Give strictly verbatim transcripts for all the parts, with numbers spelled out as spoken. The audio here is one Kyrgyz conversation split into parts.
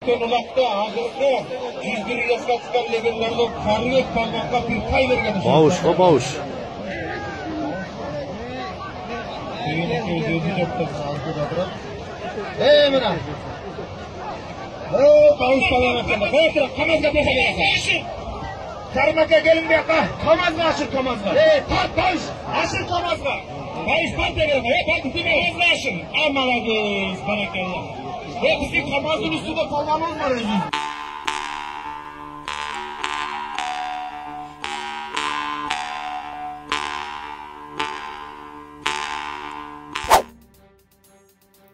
өткен улакта агыркы жүз бир жаска легендарлы Карыбек Палмакка бир тай берген. Бауышко бауыш. Эй, мына. О, бауыш саламат жана. Отура, камазга боша бересиң. Кармакка келин бияка. Камазга ашыр камазга. Эй, тарт бауыш, ашыр камазга. Бауыш бар деген, э, бар деме. Камазга ашыр. А, молодец, баракалла. Э, биздин камаздын үстүндө калганыбыз бар өзү.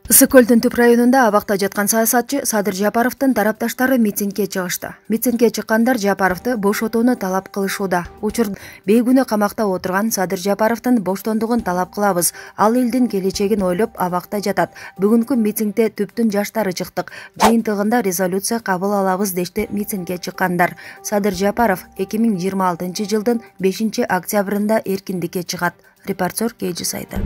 Ысык көлдүн түп районунда абакта жаткан саясатчы Садыр Жапаровдун тарапташтары митингге чыгышты. Митингге чыккандар Жапаровду боштотууну талап кылышууда. Учур бейгүнөө камакта отурган Садыр Жапаровдун боштондугун талап кылабыз. Ал элдин келечегин ойлоп абакта жатат. Бүгүнкү митингде түптүн жаштары чыктык. Жыйынтыгында резолюция кабыл алабыз дешти митингге чыккандар. Садыр Жапаров эки миң жыйырма алтынчы жылдын бешинчи октябрында эркиндикке чыгат. Репортер Кейджи сайты.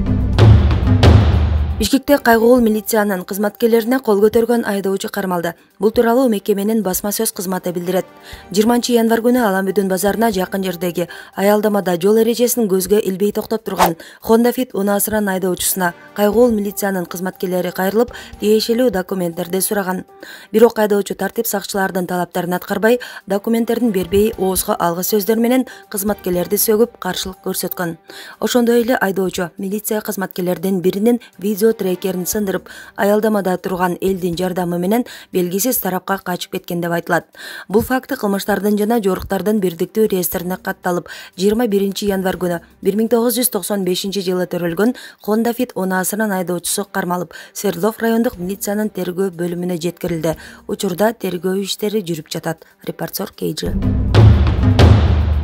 Бишкекте кайгуул милициянын кызматкерлерине кол көтөргөн айдоочу кармалды. Бул тууралуу мекеменин басма сөз кызматы билдирет. жыйырманчы январь күнү Аламбүдүн базарына жакын жердеги аялдамада жол эрежесин көзгө илбей токтоп турган Honda Fit унаасынын айдоочусуна кайгуул милициянын кызматкерлери кайрылып, тиешелүү документтерди сураган. Бирок айдоочу тартип сакчылардын талаптарын аткарбай, документтердин бербей, оозго алгы сөздөр менен кызматкерлерди сөгүп, каршылык көрсөткөн. Ошондой эле айдоочу милиция кызматкерлеринин биринин видео трекерин сындырып, аялдамада турган элдин жардамы менен белгисиз тарапка качып кеткен деп айтылат. Бул факты кылмыштардын жана жоруктардын бирдиктүү реестрине катталып, жыйырма биринчи январь күнү бир миң тогуз жүз токсон бешинчи жылы төрөлгөн Honda Fit унаасынын айдоочусу кармалып, Свердлов райондук милициянын тергөө бөлүмүнө жеткирилди. Учурда тергөө иштери жүрүп жатат. Репортер Кейджи.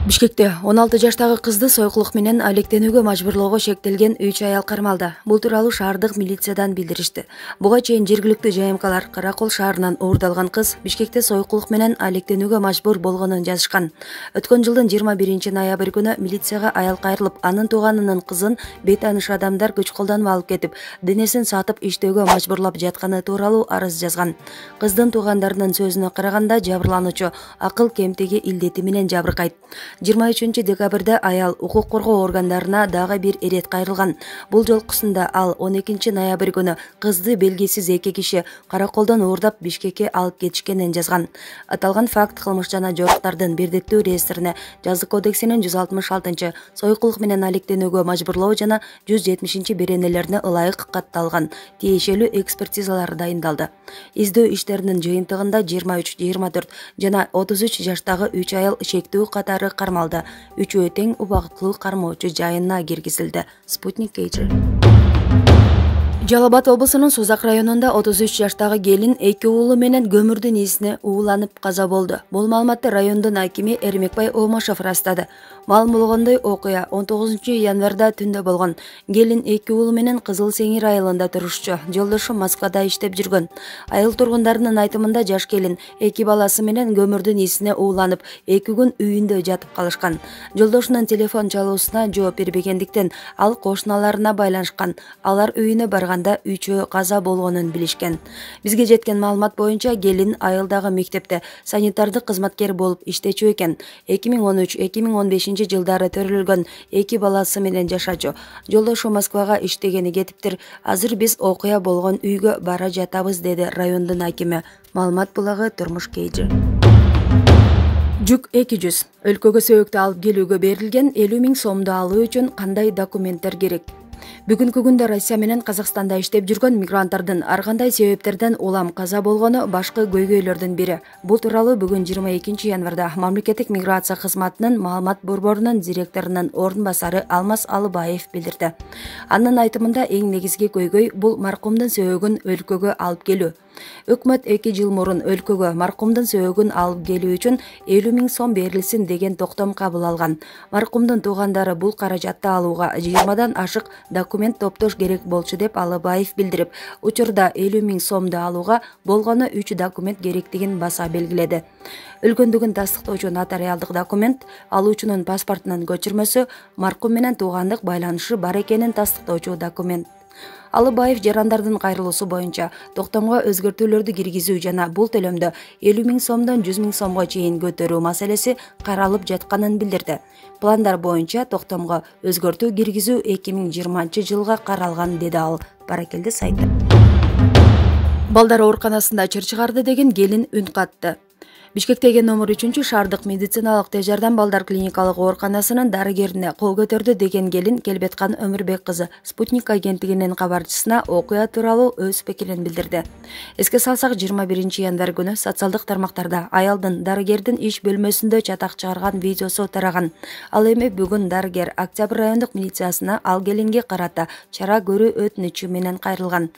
Бишкекте он алты жаштагы кызды сойкулук менен алектенүүгө мажбурлоого шектелген үч аял кармалды. Бул тууралуу шаардык милициядан билдиришти. Буга чейин жергиликтүү жайымкалар Каракол шаарынан уурдалган кыз Бишкекте сойкулук менен алектенүүгө мажбур болгонун жазышкан. Өткөн жылдын жыйырма биринчи ноябрь күнү милицияга аял кайрылып, анын тууганынын кызын бейтааныш адамдар күч колдонуп алып кетип, денесин сатып иштөөгө мажбурлап жатканы тууралуу арыз жазган. Кыздын туугандарынын сөзүнө караганда, жабырлануучу акыл кемтиги илдети менен жабыркайт. жыйырма үчүнчү декабрда аял укук коргоо органдарына дагы бир ирет кайрылган. Бул жолкусунда ал он экинчи ноябрь күнү кызды белгисиз эки киши Караколдон уурдап Бишкекке алып кетишкенин жазган. Аталган факт кылмыш жана жоруктардын бирдиктүү реестрине жазык кодексинин жүз алтымыш алтынчы сойкулук менен алектенүүгө мажбурлоо жана жүз жетимишинчи беренелерине ылайык катталган. Тиешелүү экспертизалар дайындалды. Издөө иштеринин жыйынтыгында жыйырма үч, жыйырма төрт жана отуз үч жаштагы үч аял шектүү катары кармалды. Үчөө тең убакыттуу кармоочу жайына киргизилди. Спутник Кейджи. Жалал Абад облусунун Созак районунда отуз үч жаштагы келин эки уулу менен көмүрдүн исине ууланып каза болду. Бул маалыматты райондун акими Эрмекбай Омашев ырастады. Маалым болгондой, окуя он тогузунчу январда түндө болгон. Келин эки уулу менен Кызыл Сеңир айылында турушчу. Жолдошу Москвада иштеп жүргөн. Айыл тургундарынын айтымында жаш келин эки баласы менен көмүрдүн исине ууланып, эки күн үйүндө жатып калышкан. Жолдошунун телефон чалуусуна жооп бербегендиктен ал кошуналарына байланышкан. Алар үйүнө барган үчөө каза болгонун билишкен. Бизге жеткен маалымат боюнча келин айылдагы мектепте санитардык кызматкер болуп иштечү экен. эки миң он үч эки миң он бешинчи жылдары төрөлгөн эки баласы менен жашачу. Жолдошу Москвага иштегени кетиптир. Азыр биз окуя болгон үйгө бара жатабыз, деди райондун акими. Маалымат булагы Турмуш Кейджи. Жүк эки жүз. Өлкөгө сөйөктү алып келүүгө берилген элүү миң сомду алуу үчүн кандай документтер керек? Бүгүнкү күндө Россия менен Казакстанда иштеп жүргөн мигранттардын ар кандай себептерден улам каза болгону башкы көйгөйлөрдүн бири. Бул тууралуу бүгүн жыйырма экинчи январда мамлекеттик миграция кызматынын маалымат борборунун директорунун орун басары Алмаз Алыбаев билдирди. Анын айтымында эң негизги көйгөй бул маркумдун сөөгүн өлкөгө алып келүү. Өкмөт эки жыл мурун өлкөгө маркумдун сөөгүн алып келүү үчүн элүү миң сом берилсин деген токтом кабыл алган. Маркумдун туугандары бул каражатты алууга жыйырмадан ашык документ топтош керек болчу деп Алыбаев билдирип, учурда элүү миң сомду алууга болгону үч документ керектигин баса белгиледи. Өлгөндүгүн тастыктоочу нотариалдык документ, алуучунун паспортунун көчүрмөсү, маркум менен туугандык байланышы бар экенин тастыктоочу документ. Алыбаев жарандардын кайрылуусу боюнча токтомго өзгөртүүлөрдү киргизүү жана бул төлөмдү элүү миң сомдон жүз миң сомго чейин көтөрүү маселеси каралып жатканын билдирди. Пландар боюнча токтомго өзгөртүү киргизүү эки миң жыйырманчы жылга каралган, деди ал Баракелде сайты. Балдар ооруканасында чыр чыгарды деген келин үн катты. Бишкектеги номер үчүнчү шаардык медициналык тез жардам балдар клиникалык ооруканасынын дарыгерине кол көтөрдү деген келин Келбеткан Өмүрбек кызы Спутник агенттигинин кабарчысына окуя тууралуу өз пикирин билдирди. Эске салсак, жыйырма биринчи январь күнү социалдык тармактарда аялдын дарыгердин иш бөлмөсүндө чатак чыгарган видеосу тараган. Ал эми бүгүн дарыгер Октябрь райондук милициясына ал келинге карата чара көрүү өтүнүчү менен кайрылган.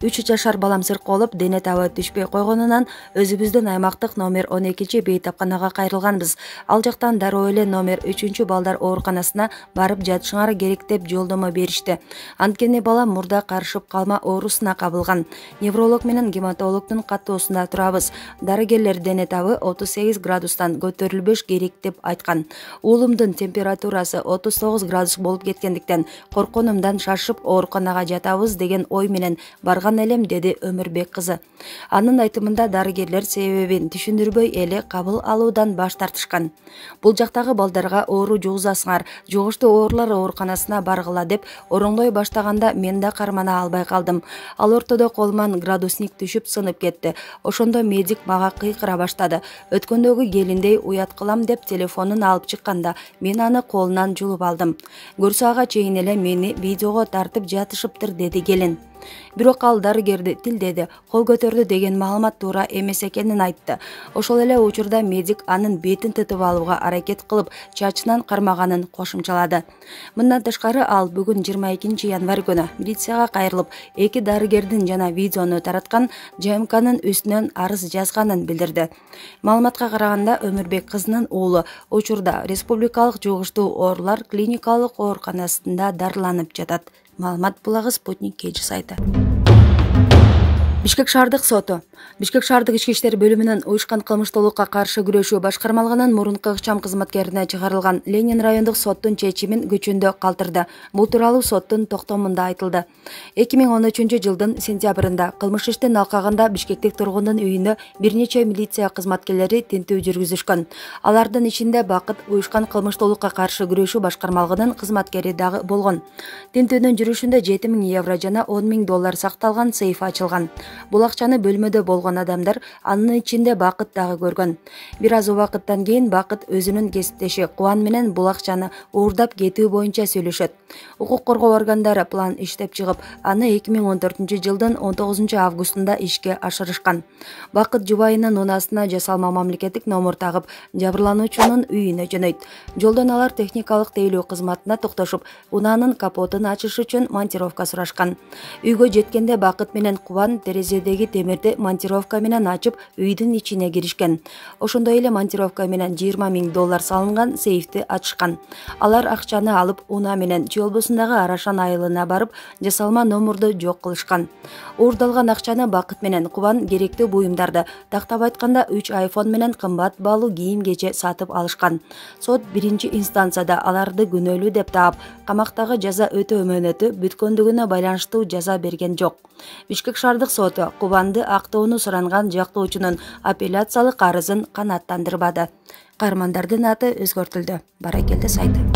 үч жашар балам сыркоолоп, дене табы түшпөй койгонунан өзүбүздүн аймактык номер он экинчи бейтапканага кайрылганбыз. Ал жактан дароо эле номер үчүнчү балдар ооруканасына барып жатышыңар керек деп жолдомо беришти. Анткени балам мурда карышып калма оорусуна кабылган. Невролог менен гематологдун каттоосунда турабыз. Дарыгерлер дене табы отуз сегиз градустан көтөрүлбөш керек деп айткан. Уулумдун температурасы отуз тогуз градус болуп кеткендиктен корконумдан шашып ооруканага жатабыз деген ой менен барган элем, деди Өмүрбек кызы. Анын айтымында дарыгерлер себебин түшүндүрбөй эле кабыл алуудан баш тартышкан. Бул жактагы балдарга оору жугузасыңар, жугуштуу оорулар ооруканасына баргыла деп ороңдой баштаганда мен да кармана албай калдым. Ал ортодо колуман градусник түшүп сынып кетти. Ошондо медик мага кыйкыра баштады. Өткөндөгү келиндей уят кылам деп телефонун алып чыкканда мен аны колунан жулуп алдым. Көрсө ага чейин эле мени видеого тартып жатышыптыр, деди келин. Бирок ал дарыгерди тилдеди, кол көтөрдү деген маалымат туура эмес экенин айтты. Ошол эле учурда медик анын бетин тытып алууга аракет кылып, чачынан кармаганын кошумчалады. Мындан тышкары ал бүгүн жыйырма экинчи январь күнү милицияга кайрылып, эки дарыгердин жана видеону тараткан ЖМКнын үстүнөн арыз жазганын билдирди. Маалыматка караганда, Өмүрбек кызынын уулу учурда Республикалык жугуштуу оорулар клиникалык ооруканасында дарыланып жатат. Маалымат булагы Спутник кеч сайты. Бишкек шаардык соту. Бишкек шаардык ички иштер бөлүмүнүн уюшкан кылмыштуулукка каршы күрөшүү башкармалыгынын мурунку ыкчам кызматкерине чыгарылган Ленин райондук соттун чечимин күчүндө калтырды. Бул тууралуу соттун токтомунда айтылды. эки миң он үчүнчү жылдын сентябрында кылмыш иштин алкагында Бишкектик тургундун үйүндө бир нече милиция кызматкерлери тинтүү жүргүзүшкөн. Алардын ичинде Бакыт уюшкан кылмыштуулукка каршы күрөшүү башкармалыгынын кызматкери дагы болгон. Тинтүүнүн жүрүшүндө жети миң евро жана он миң доллар сакталган сейф ачылган. Бул акчаны бөлмөдө болгон адамдар, анын ичинде Бакыт дагы көргөн. Бир аз убакыттан кийин Бакыт өзүнүн кесиптеши Кубан менен бул акчаны уурдап кетүү боюнча сүйлөшөт. Укук коргоо органдары план иштеп чыгып, аны эки миң он төртүнчү жылдын он тогузунчу августунда ишке ашырышкан. Бакыт жубайынын унаасына жасалма мамлекеттик номер тагып, жабырлануучунун үйүнө жөнөйт. Жолдон алар техникалык тейлөө кызматына токтошуп, унаанын капотун ачыш үчүн монтировка сурашкан. Үйгө жеткенде Бакыт менен Кубан терезедеги темирди монтировка менен ачып, үйдүн ичине киришкен. Ошондой эле монтировка менен жыйырма миң доллар салынган сейфти ачышкан. Алар акчаны алып, унаа менен Чолбосундагы Арашан айылына барып, жасалма номерду жок кылышкан. Уурдалган акчаны Бакыт менен Кубан керектүү буюмдарды, тактап айтканда үч айфон менен кымбат баалуу кийим-кече сатып алышкан. Сот биринчи инстанцияда аларды күнөөлүү деп таап, камактагы жаза өтөө мөөнөтү бүткөндүгүнө байланыштуу жаза берген жок. Бишкек шаардык соту Кубанды актоону суранган жактоочунун апелляциялык арызын канааттандырбады. Каармандардын аты өзгөртүлдү. Баракелде сайты.